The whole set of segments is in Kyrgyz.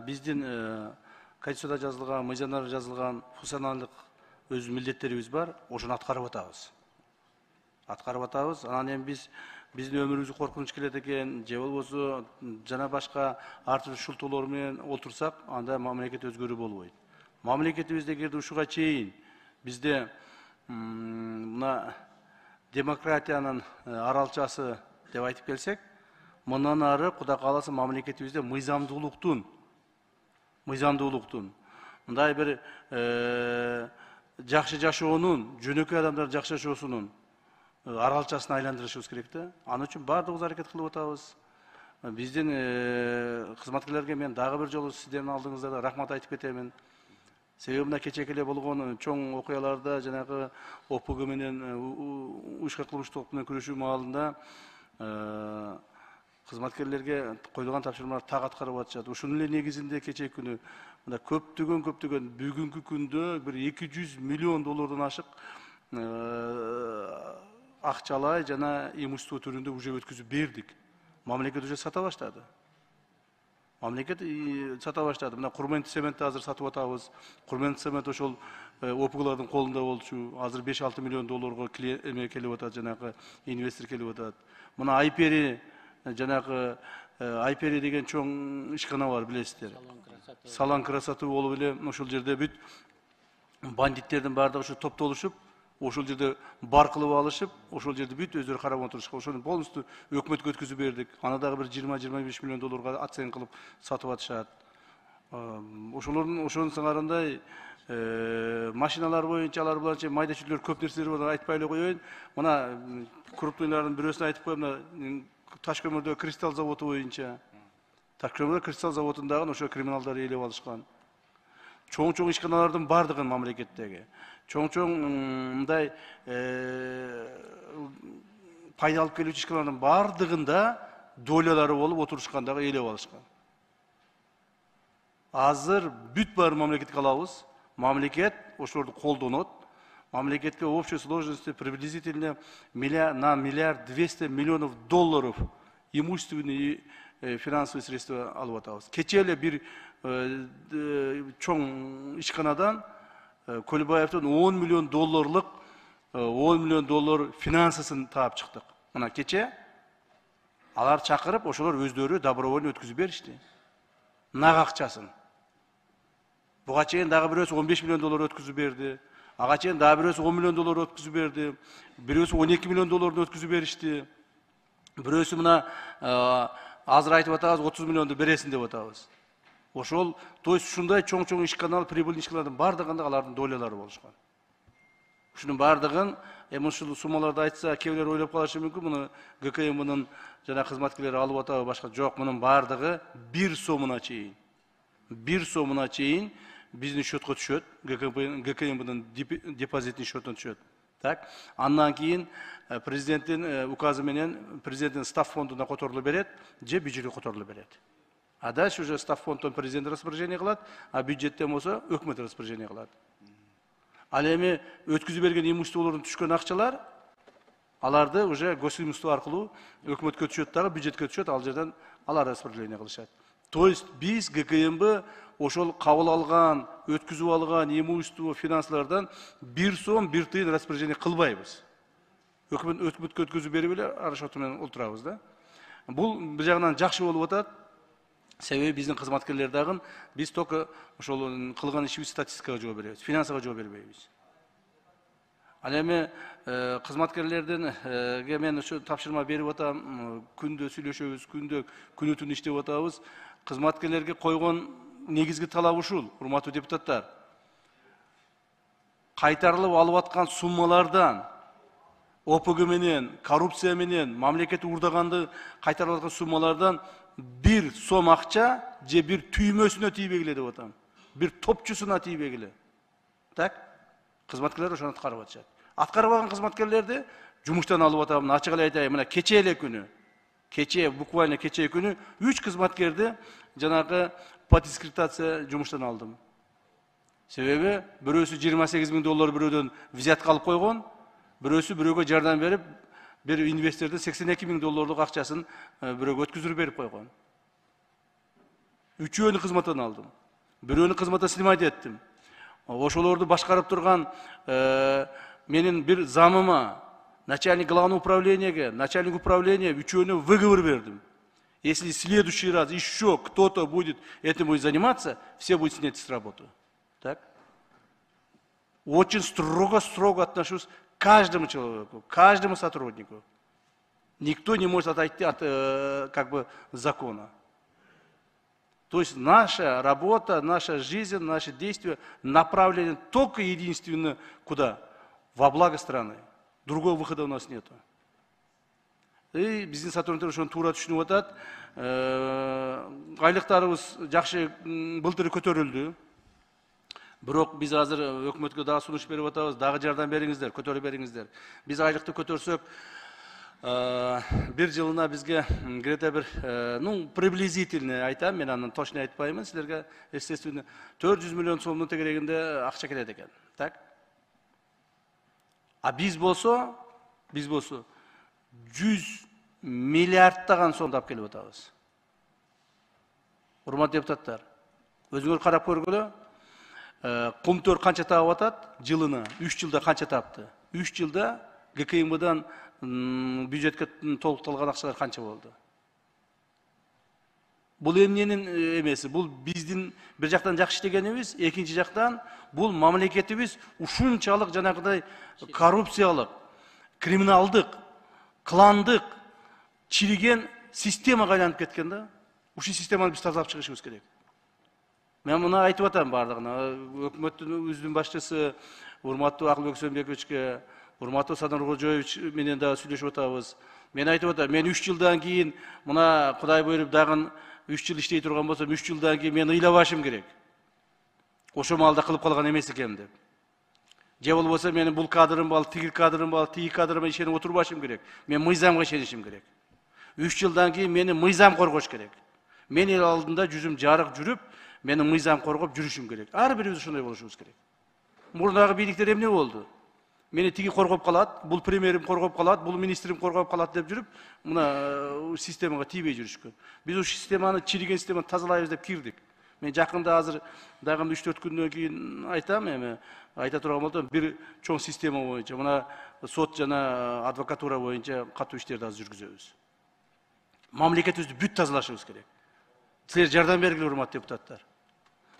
Биздин Конституцияда жазылган, мыйзамдарда жазылган функционалдык өз милдеттерибиз бар, ошону аткарып атабыз. Анан эми биздин өмүрүбүзгө коркунуч келет экен, же болбосо жана башка ар түрдүү шылтоолор менен отурсак, анда мамлекет өзгөрүү болбойт. Мамлекетибизде эгерде ушуга чейин бизде мына демократиянын аралчасы деп айтып келсек, мындан ары Кудай кааласа мамлекетибизде мыйзамдуулуктун мындай бир жакшы жашоонун, жөнөкөй адамдар жакшы жашоосунун аралчасына айландырышыбыз керек да. Аны үчүн баардыгыбыз аракет кылып атабыз. Биздин кызматкерлерге мен дагы бир жолу сиздердин алдыңызда рахмат айтып кетемин. Себеби мына кечээки эле болгон чоң окуяларда жанагы ОПГ менен уюшкан кылмыштуулук менен күрөшүү маалында кызматкерлерге коюлган тапшырмалар так аткарып атышат. Ушунун эле негизинде кечээки күнү мына көптөгөн бүгүнкү күндө бир 200 миллион доллардан ашык акчалай жана имущество түрүндө уже өткүзүп бердик. Мамлекет уже сата баштады. Мына Курмент цементти азыр сатып атабыз. Курмент цемент ошол ОПГлардын колунда болчу. Азыр 5-6 миллион долларга келип атат, жанагы инвестор келип атат. Мына Айпери, жанагы Айпери деген чоң ишкана бар, билесиздер. Салан красоты болуп эле ошол жерде бүт бандиттердин баардыгы ушу топтолушуп, ошол жерде бар кылып алышып, ошол жерде бүт өздөрү карап отурушкан. Ошону полностью өкмөткө өткүзүп бердик. Аны дагы бир 20-25 миллион долларга оценка кылып сатып атышат. Ошонун сыңарындай машиналар боюнча алар буларча майда чүйдөлөр көп нерселер бар, айтпай эле коеюн. Мына крупныйлардын бирөөсүн айтып коем, мына Таш-көмүрдө кристалл заводу боюнча. Таш-көмүрдө кристалл заводундагы ошо криминалдар ээлеп алышкан. Чоң ишканалардын бардыгын мамлекеттеги чоң мындай пайда алып келүүчү ишканалардын бардыгында долялары болуп отурушкандагы ээлеп алышкан. Азыр бүт бар мамлекетке алабыз. Мамлекет ошолорду колдонот. Мамлекетке в общей сложности приблизительно на 1,2 миллиарда долларов имущественные и финансовые средства алып атабыз. Кечээ эле бир чоң ишканадан Көлбаевдин 10 миллион доллар финансысын таап чыктык. Мына кечээ алар чакырып, ошолор өздөрү добровольно өткүзүп беришти. Нак акчасын. Буга чейин дагы бирөөсү 15 миллион доллар өткүзүп берди. Ага чейин дагы бирөөсү 10 миллион доллар өткүзүп берди. Бирөөсү 12 миллион долларды өткүзүп беришти. Бирөөсү мына азыр айтып атабыз 30 миллионду бересин деп атабыз. Ошол, то есть ушундай чоң ишканал, прибыльный ишканалардын бардыгында алардын долялары болушкан. Ушунун бардыгын ушул суммаларды айтса, кээ ойлоп калышы мүмкүн, муну ГКМнын жана кызматкерлери алып атабы башка. Жок, мунун бардыгы 1 сомуна чейин. 1 сомуна чейин биздин счетко түшөт, ГКМнын депозитный счетуна түшөт. Так, андан кийин президенттин указы менен президенттин став фондуна которулуп берет, же бюджетке которулуп берет. А дальше уже став фондтон президент распоряжение кылат, а бюджеттен болсо өкмөт распоряжение кылат. Ал эми өткүзүп берген имуществолордун түшкөн акчалар, аларды уже госимущество аркылуу өкмөткө түшөт дагы, бюджетке түшөт, ал жерден алар распределение кылышат. То есть биз ГКМБ ошол кабыл алган, өткүзүп алган имущество финансылардан 1 сом 1 тыйын распоряжение кылбайбыз. Өкмөткө өткүзүп берип эле арашоту менен отурабыз да. Бул бир жагынан жакшы болуп атат. Себеби биздин кызматкерлер дагы биз только ошол кылган ишибиз статистикага жооп беребиз, финансага жооп бербейбиз. Ал эми кызматкерлерденге мен ошо тапшырма берип атам, күндө сүйлөшөбүз, күнү түн иштеп атабыз. Кызматкерлерге койгон негизги талап ушул, урматтуу депутаттар. Кайтарылып алып аткан суммалардан ОПГ менен, коррупция менен, мамлекет уурдаганды кайтарып аткан суммалардан 1 сом акча же бир түймөсүнө тийбегиле деп атам. Бир топчусуна тийбегиле. Так? Кызматкерлер ошону аткарып атышат. Аткарбаган кызматкерлерди жумуштан алып атам. Ачык эле айтайын, мына кечээ эле күнү. Буквально кечээ күнү 3 кызматкерди жанагы по дискредитация жумуштан алдым. Себеби бирөөсү 28 000 доллар бирөөдөн взятка алып койгон, бирөөсү бирөөгө жардам берип, бир инвестордун 82 000 долларлык акчасын бирөөгө өткүзүп берип койгон. Үчөөнү кызматтан алдым. Бирөөнү кызматтан снимать эттим. Ошолорду башкарып турган менин бир замыма, начальник главного управления, начальник управления үчөөнү выговор бердим. Если в следующий раз еще кто-то будет этим заниматься, все будут снять с работы. Так? Очень строго отношусь к каждому человеку, к каждому сотруднику. Никто не может отойти от закона. То есть наша работа, наша жизнь, наши действия направлены только единственно куда? Во благо страны. Другого выхода у нас нет. И биздин сотрудниктер ошону туура түшүнүп атат. Айлыктарыбыз жакшы былтыр көтөрүлдү. Бирок биз азыр өкмөткө дагы сунуш берип атабыз, дагы жардам бериңиздер, көтөрүп бериңиздер. Биз айлыкты көтөрсөк, бир жылына бизге где-то бир, приблизительно айтам, мен анын точно айтпаймын силерге, естественно, 400 миллион сомдун тегерегинде акча келет экен. Так? А биз болсо 100 миллиардтаган сомду алып келип атабыз. Урматтуу депутаттар, өзүңөр карап көргүлө. Комтөр канча таап атат жылына? 3 жылда канча таапты? 3 жылда ГКМБдан бюджетке толукталган акчалар канча болду? Бул эмненин эмеси? Бул биздин бир жактан жакшы иштегенибиз, экинчи жактан бул мамлекетибиз ушунчалык жанагыдай коррупциялык, криминалдык, кландык, чириген системага айланып кеткен да. Ушул системаны биз тазалап чыгышыбыз керек. Мен муну айтып атам бардыгына. Өкмөттүн башчысы урматтуу Акылбек Сөнбековичке, урматтуу Садыр Кожоевич менен дагы сүйлөшүп атабыз. Мен айтып атам, мен 3 жылдан кийин мына Кудай буйруп дагы 3 жыл иштей турган болсом, 3 жылдан кийин мен ыйлабашым керек. Ошо маалда кылып калган эмес экенмин деп. Же болбосо менин бул кадрым бар, тиги кадрым бар, тиги кадрыма ишенип отурбашым керек. Мен мыйзамга ишенишим керек. 3 жылдан кийин мени мыйзам коргош керек. Мен эл алдында жүзүм жарык жүрүп, мени мыйзам коргоп жүрүшүм керек. Ар бирибиз ошондой болушубуз керек. Мурдагы бийликтер эмне болду? Мени тиги коргоп калат, бул премьерим коргоп калат, бул министрим коргоп калат деп жүрүп, мына системага тийбей жүрүшкөн. Биз ушул системаны, чириген системаны тазалайбыз деп кирдик. Мен жакында азыр дагы 3-4 күндөн кийин айтам, эми айта турган болсом, бир чоң система боюнча, мына сот жана адвокатура боюнча катуу иштерди азыр жүргүзөбүз. Мамлекетибизди бүт тазалашыбыз керек. Силер жардам бергиле, урматтуу депутаттар.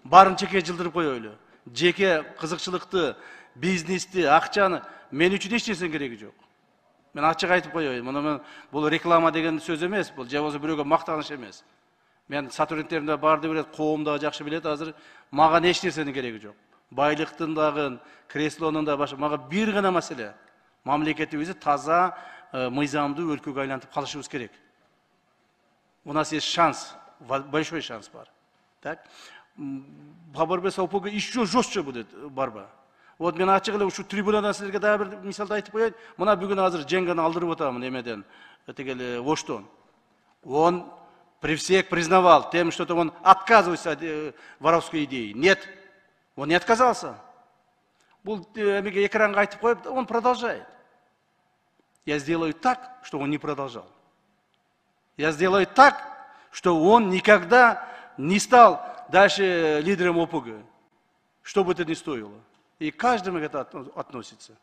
Барын чеке жылдырып коелу. Жеке кызыкчылыкты, бизнести, акчаны мен үчүн эч нерсенин кереги жок. Мен ачык айтып коеюн. Муну бул реклама деген сөз эмес, бул же болбосо бирөөгө мактаныш эмес. Мен сотрудниктерим да барды билет, коом да жакшы билет, азыр мага эч нерсенин кереги жок. Байлыктын дагы, креслонун да башы, мага бир гана маселе. Мамлекетибизди таза, мыйзамдуу өлкөгө айлантып калышыбыз керек. У нас есть шанс, большой шанс бар. Так? Хабарбес ОПГ еще жестче будет борьба. Вот мен ачык эле ушу трибунадан силерге дагы бир мисалды айтып коеюн. Мына бүгүн азыр Женганы алдырып атамын эмеден, тигели Оштон. Он при всех признавал тем, что он отказывается от воровской идеи. Нет, он не отказался. Бул эмеге экранга айтып коюп, он продолжает. Я сделаю так, что он не продолжал. Я сделаю так, что он никогда не стал дальше лидером ОПГ, что бы это ни стоило. И каждому это относится.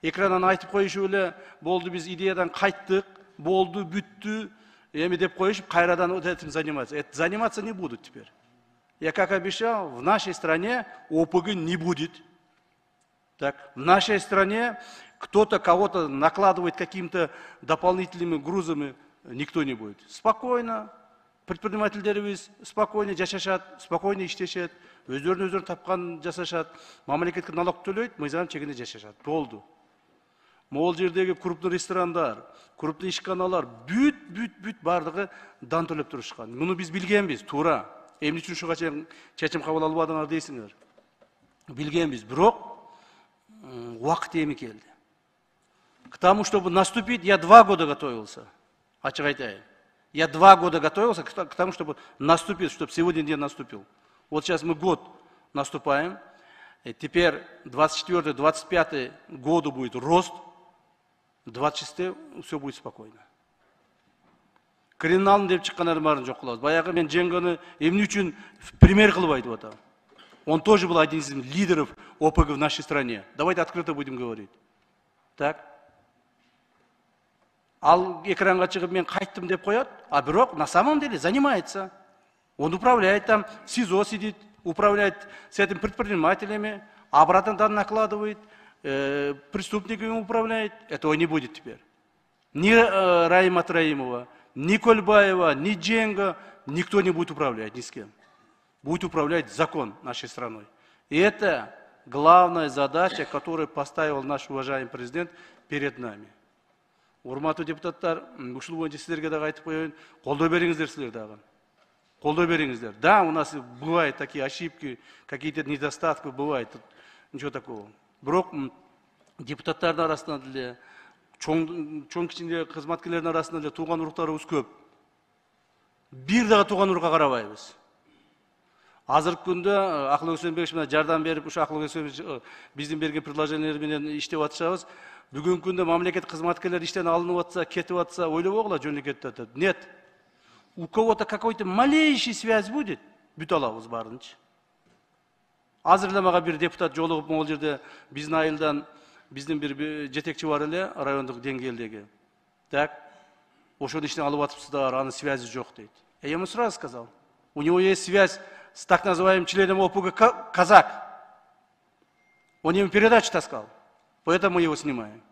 Экрандан айтып коюшу эле, болду биз идеядан кайттык, болду, бүттү, эми деп коюшуп, кайрадан вот этим заниматься. Заниматься не будут теперь. Я как обещал, в нашей стране ОПГ не будет. Так, в нашей стране кто-то кого-то накладывает какими-то дополнительными грузами, никто не будет. Спокойно. Предпринимательдерибиз спокойно жашашат, спокойно иштешет, өздөрүн тапкан жасашат, мамлекетке налог төлөйт, мыйзам чегинде жашашат. Болду. Могул жердеги крупный ресторандар, крупный ишканалар бүт бардыгы дан төлөп турушкан. Муну биз билгенбиз, туура. Эмне үчүн ушуга чечим кабыл албадыңар дейсиңер. Билгенбиз, бирок убакыт эми келди. К тому, чтобы наступить, я 2 года готовился. Ачык айтайын. Я 2 года готовился к тому, чтобы наступить, чтобы сегодня день наступил. Вот сейчас мы год наступаем. И теперь 24-25 году будет рост. 26 все будет спокойно. Криминалдын деп чыккандардын баарын жок кылабыз. Баягы мен Женганы эмне үчүн пример кылып айтып атам. Он тоже был один из лидеров ОПГ в нашей стране. Давайте открыто будем говорить. Так. Ал экранга чыгып мен кайттым деп коет, а бирок на самом деле занимается. Он управляет там, в СИЗО сидит, управляет с этим предпринимателями, обратно там накладывает, преступниками управляет. Этого не будет теперь. Ни Раима Троимова, ни Кольбаева, ни Дженга, никто не будет управлять ни с кем. Будет управлять закон нашей страной. И это главная задача, которую поставил наш уважаемый президент перед нами. Урматтуу депутаттар, ушул боюнча силерге дагы айтып коеюн, колдоо бериңиздер силер дагы. Колдоо бериңиздер. Да, у нас бывают такие ошибки, какие-то недостатки бывают, ничего такого. Бирок депутаттардын арасында деле, чоң кичине кызматкерлердин арасында деле тууган уруктарыбыз көп. Бир дагы тууган урукка карабайбыз. Азыркы күндө Акыл Өксөнбекович менен жардам берип, ушу Акыл Өксөнбекович биздин берген предложениялар менен иштеп атышабыз. Бүгүнкү күндө мамлекет кызматкерлери иштен алынып атса, кетип атса, ойлобогула жөнү кетип атат. Нет. У кого-то какой-то малейший связь будет, бүт алабыз баарынчы. Азыр эле мага бир депутат жолугуп, могул жерде биздин айылдан биздин бир жетекчи бар эле, райондук деңгээлдеги. Так, ошону иштен алып атыпсыздар, анын связи жок дейт. Я ему сразу сказал, у него есть связь с так называемым членом ОПГ Казак. Он ему передачу таскал, поэтому мы его снимаем.